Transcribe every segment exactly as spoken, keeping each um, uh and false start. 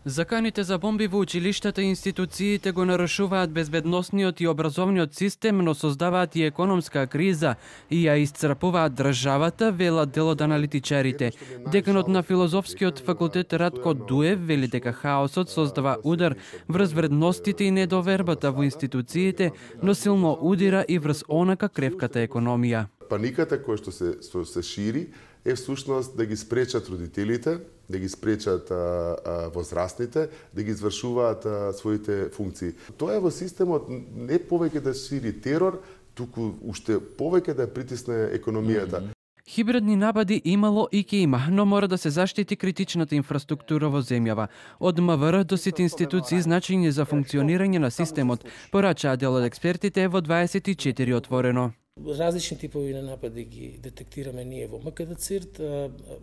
Заканите за бомби во училиштата и институциите го нарушуваат безбедносниот и образовниот систем, но создаваат и економска криза и ја исцрпуваат државата, велат дел од аналитичарите. Деканот на филозофскиот факултет Ратко Дуев вели дека хаосот создава удар врз вредностите и недовербата во институциите, но силно удира и врз онака кревката економија. Паниката која што се, што се шири е всушност да ги спречат родителите, да ги спречат а, а, возрастните, да ги извршуваат а, своите функции. Тоа е во системот не повеќе да шири терор, туку уште повеќе да притисне економијата. Хибридни напади имало и ке има, но мора да се заштити критичната инфраструктура во земјава. Од МВР до сите институции значење за функционирање на системот, порачаа дел од експертите во дваесет и четири отворено. Различни типови на напади ги детектираме ние во МКД-ЦИРТ.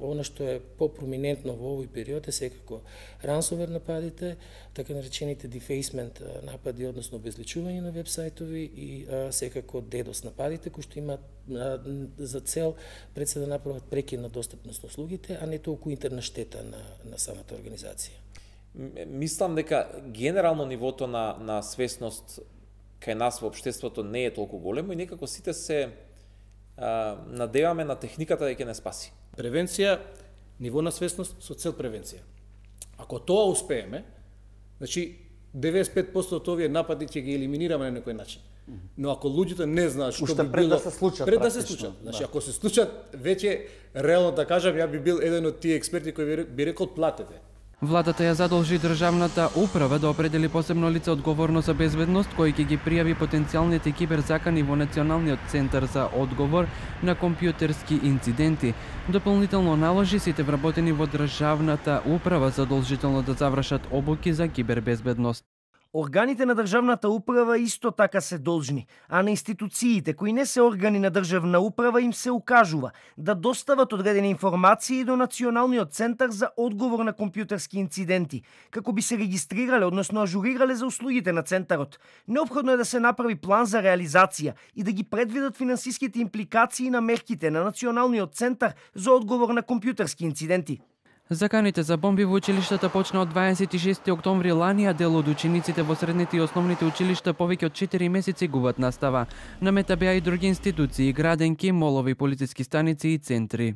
Она што е попроминентно во овој период е секако рансовер нападите, така наречените дефейсмент напади, односно обезличување на вебсајтови и а, секако дедос нападите, кои што имаат за цел пред се да направат прекин на достапност на услугите, а не толку интерна штета на, на самата организација. Мислам дека генерално нивото на, на свесност кај нас во општеството не е толку големо и некако сите се а, надеваме на техниката да ќе не спаси. Превенција, ниво на свесност со цел превенција. Ако тоа успееме, значи деветдесет и пет проценти од овие напади ќе ги елиминираме на некој начин. Но ако луѓето не знаат што Уште би пред било, да се случат, пред да се случат, значи да. ако се случат, веќе реално да кажам, ја би бил еден од тие експерти кои би рекол платете. Владата ја задолжи државната управа да определи посебно лице одговорно за безбедност, кој ќе ги пријави потенцијалните киберзакани во Националниот центар за одговор на компјутерски инциденти. Дополнително наложи сите вработени во државната управа задолжително да завршат обуки за кибербезбедност. Органите на државната управа исто така се должни, а на институциите кои не се органи на државна управа им се укажува да достават одредени информации до Националниот центар за одговор на компјутерски инциденти, како би се регистрирале, односно ажурирале за услугите на центарот. Неопходно е да се направи план за реализација и да ги предвидат финансиските импликации на мерките на Националниот центар за одговор на компјутерски инциденти. Заканите за бомби во училиштата почна од дваесет и шести октомври лани, а дел од учениците во средните и основните училишта повеќе од четири месеци губат настава. На мета беа и други институции, граденки, молови, полициски станици и центри.